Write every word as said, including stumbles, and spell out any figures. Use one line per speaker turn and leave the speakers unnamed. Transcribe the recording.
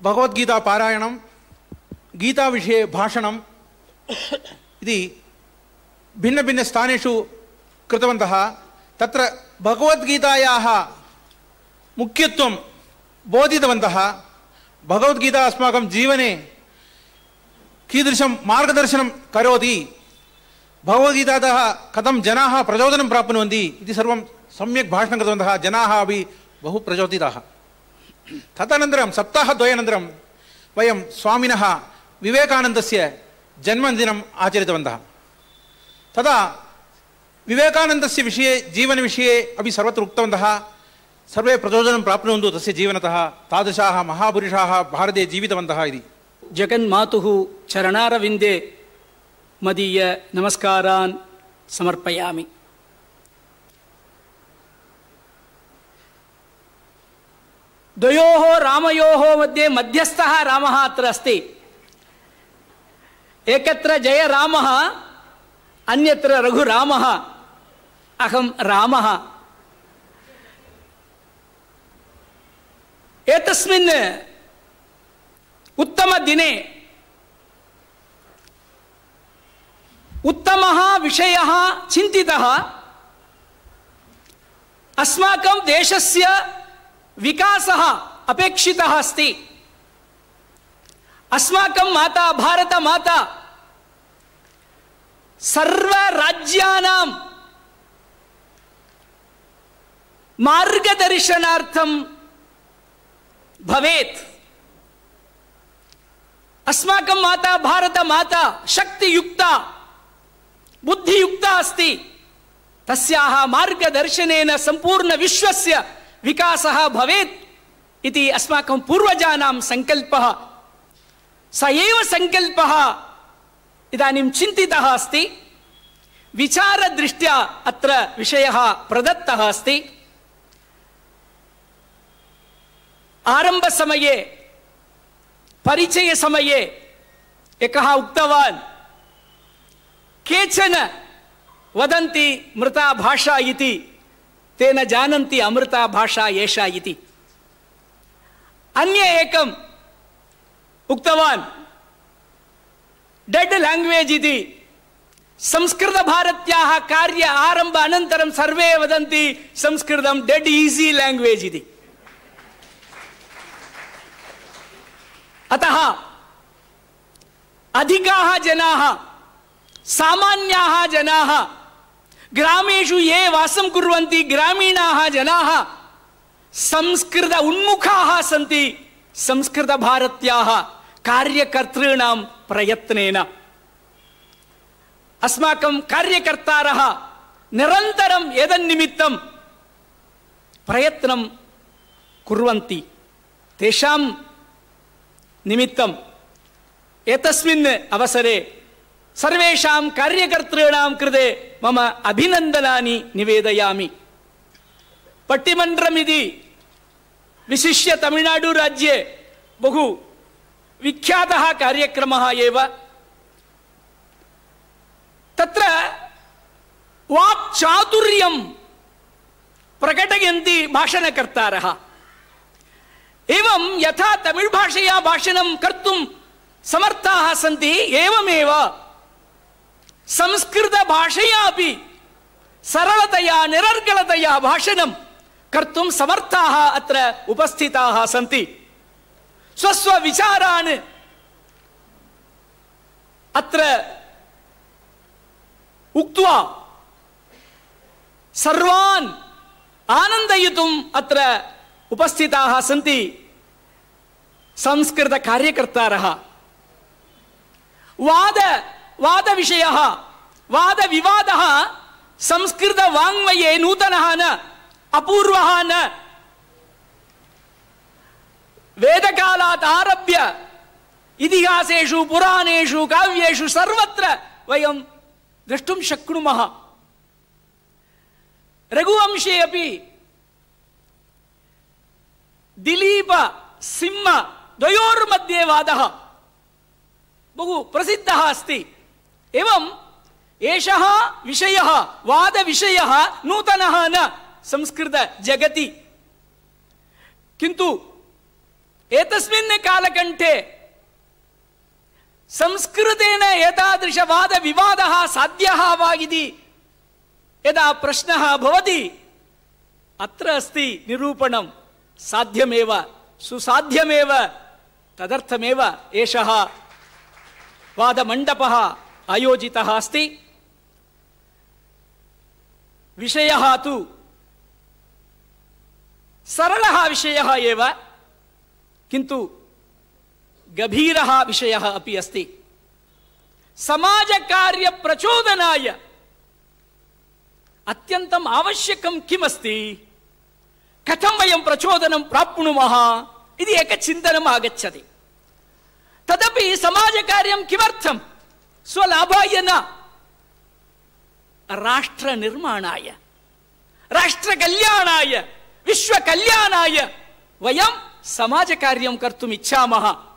भगवद्गीता पारायणं, गीता विषये भाषणम् इति भिन्नभिन्नस्थानेषु कृतवन्तः। तत्र भगवद्गीतायाः मुख्यत्वं बोधितवन्तः। भगवद्गीता अस्माकं जीवने कीदृशं मार्गदर्शनं करोति, भगवद्गीतातः कथं जनाः प्रचोदनं प्राप्नुवन्ति इति सर्वं सम्यक् भाषणं कृतवन्तः। जनाः अपि बहु प्रचोदिताः। तदनन्तरं सप्ताहद्वयानन्तरं वयं स्वामिनः विवेकानन्दस्य जन्मदिनम् आचरितवन्तः। तदा विवेकानन्दस्य विषये, जीवनविषये अपि सर्वत्र उक्तवन्तः। सर्वे प्रचोदनं प्राप्नुवन्तु तस्य जीवनतः, तादृशाः महापुरुषाः भारते जीवितवन्तः इति।
जगन्मातुः चरणारविन्दे मदीय नमस्कारान् समर्पयामि। द्वयोः रामयोः मध्ये मध्यस्थः रामः अत्र अस्ति। एकत्र जयरामः, अन्यत्र रघुरामः, अहं रामः। एतस्मिन् उत्तमदिने उत्तमः विषयः चिन्तितः। अस्माकं देशस्य विकासः अपेक्षितः अस्ति। अस्माकं माता भारतमाता सर्वराज्यानां मार्गदर्शनार्थं भवेत्। अस्माकं माता भारतमाता शक्तियुक्ता, बुद्धियुक्ता अस्ति। तस्याः मार्गदर्शनेन सम्पूर्ण विश्वस्य विकासः भवेत् इति अस्माकं पूर्वजानां सङ्कल्पः। स एव सङ्कल्पः इदानीं चिन्तितः अस्ति। विचारदृष्ट्या अत्र विषयः प्रदत्तः अस्ति। आरम्भसमये, परिचयसमये एकः उक्तवान्, केचन वदन्ति मृता भाषा इति, ते न जानन्ति अमृता भाषा एषा इति। अन्य एकम् उक्तवान्, डेड लैंग्वेज इति। संस्कृतभारत्याः कार्य आरम्भ अनन्तरं सर्वे वदन्ति संस्कृतं डेड ईजी लैंग्वेज इति। अतः अधिकाः जनाः, सामान्याः जनाः, ग्रामेषु ये वासं कुर्वन्ति ग्रामीणाः जनाः संस्कृत उन्मुखाः सन्ति संस्कृतभारत्याः कार्यकर्तॄणां प्रयत्नेन। अस्माकं कार्यकर्तारः निरन्तरं एतन्निमित्तं प्रयत्नं कुर्वन्ति। तेषां निमित्तं एतस्मिन् अवसरे सर्वेषां कार्यकर्तॄणां कृते मम अभिनन्दनानि निवेदयामि। पट्टिमन्त्रमिति विशिष्य तमिळ्नाडु राज्ये बहु विख्यातः कार्यक्रमः एव। तत्र वाक्चातुर्यं प्रकटयन्ति भाषणकर्तारः। एवं यथा तमिळ् भाषया भाषणं कर्तुं समर्थाः सन्ति, एवमेव संस्कृत भाषया अपि सरलतया निरर्गलतया भाषणं कर्तुं समर्थाः अत्र उपस्थिताः सन्ति। स्वस्व विचारान् अत्र उक्त्वा सर्वान् आनन्दयितुम् अत्र उपस्थिताः सन्ति संस्कृत कार्यकर्तारः। वाद वादविषयः, वादविवादः संस्कृत वाङ्मये नूतनः न, अपूर्वः न। वेदकालात् आरभ्य इतिहासेषु, पुराणेषु, काव्येषु सर्वत्र वयं द्रष्टुं शक्नुमः। रघुवंशे अपि दिलीप सिंह द्वयोर्मध्ये वादः बहु प्रसिद्धः अस्ति। एवं एषः विषयः, वादविषयः नूतनः न संस्कृत जगति। किन्तु एतस्मिन् कालकण्ठे संस्कृतेन एतादृशवादविवादः साध्यः वा इति यदा प्रश्नः भवति अत्र अस्ति निरूपणं साध्यमेव सुसाध्यमेव तदर्थमेव एषः वादमण्डपः आयोजितः अस्ति। विषयः तु सरलः विषयः एव किन्तु गभीरः विषयः अपि अस्ति। समाजकार्यप्रचोदनाय अत्यन्तम् आवश्यकं किमस्ति, कथं वयं प्रचोदनं प्राप्नुमः इति एकचिन्तनम् आगच्छति। तदपि समाजकार्यं किमर्थं? स्वलाभाय न, राष्ट्रनिर्माणाय, राष्ट्रकल्याणाय, विश्वकल्याणाय वयं समाजकार्यं कर्तुम् इच्छामः।